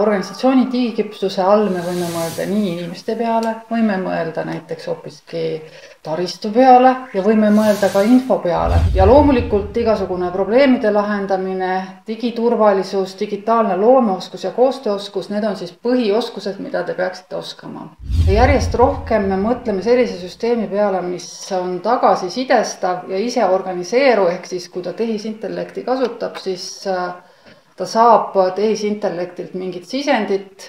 Organisatsiooni digiküpsuse all me võime mõelda nii inimeste peale, võime mõelda näiteks hoopiski taristu peale ja võime mõelda ka info peale. Ja loomulikult igasugune probleemide lahendamine, digiturvalisus, digitaalne loomeoskus ja koostööoskus, need on siis põhioskused, mida te peaksite oskama. Järjest rohkem me mõtleme sellise süsteemi peale, mis on tagasisidestav ja ise organiseeru, ehk siis kui ta tehisintellekti kasutab, siis ta saab tehisintellektilt mingit sisendit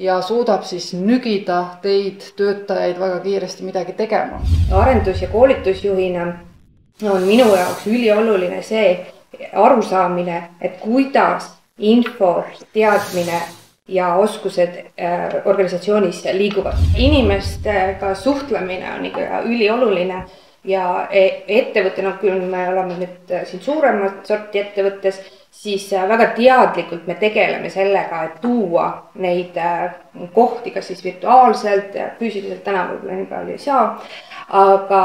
ja suudab siis nügida teid töötajaid väga kiiresti midagi tegema. Arendus- ja koolitusjuhina on minu jaoks ülioluline see arusaamine, et kuidas info, teadmine ja oskused organisatsioonis liiguvad. Inimestega suhtlemine on ikka ülioluline ja ettevõttena, kui me oleme nüüd siin suuremat sorti ettevõttes, siis väga teadlikult me tegeleme sellega, et tuua neid kohti, kas siis virtuaalselt, füüsiliselt täna võib-olla nii palju ei saa, aga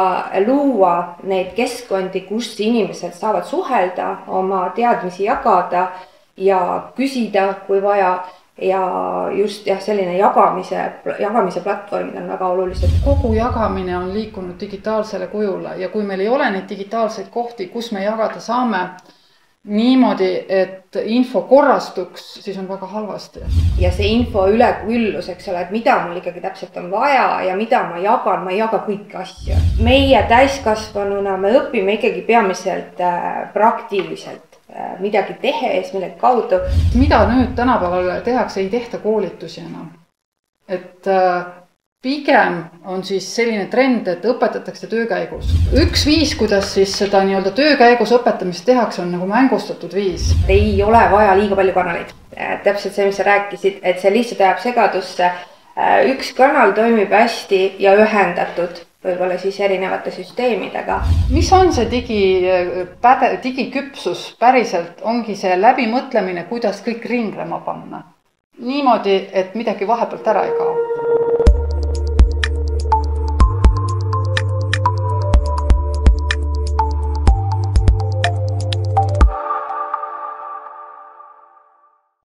luua neid keskkondi, kus inimesed saavad suhelda, oma teadmisi jagada ja küsida, kui vaja. Ja just selline jagamise platvormid on väga olulised. Kogu jagamine on liikunud digitaalsele kujule ja kui meil ei ole neid digitaalseid kohti, kus me jagada saame niimoodi, et info korrastuks, siis on väga halvasti. Ja see info üleküllus, eks ole, et mida mul ikkagi täpselt on vaja ja mida ma ei jaga kõiki asju. Meie täiskasvanuna me õpime ikkagi peamiselt praktiliselt. Midagi tehes, millegi kaudu. Mida nüüd tänapäeval tehakse, ei tehta koolitusi enam. Et pigem on siis selline trend, et õpetatakse töökäigus. Üks viis, kuidas siis seda nii-öelda töökäigus õpetamist tehakse, on nagu mängustatud viis. Ei ole vaja liiga palju kanaleid. Täpselt see, mis sa rääkisid, et see lihtsalt ajab segadusse. Üks kanal toimib hästi ja ühendatud. Võib-olla siis erinevate süsteemidega. Mis on see digiküpsus päriselt? Ongi see läbimõtlemine, kuidas kõik ringlema panna. Niimoodi, et midagi vahepealt ära ei kao.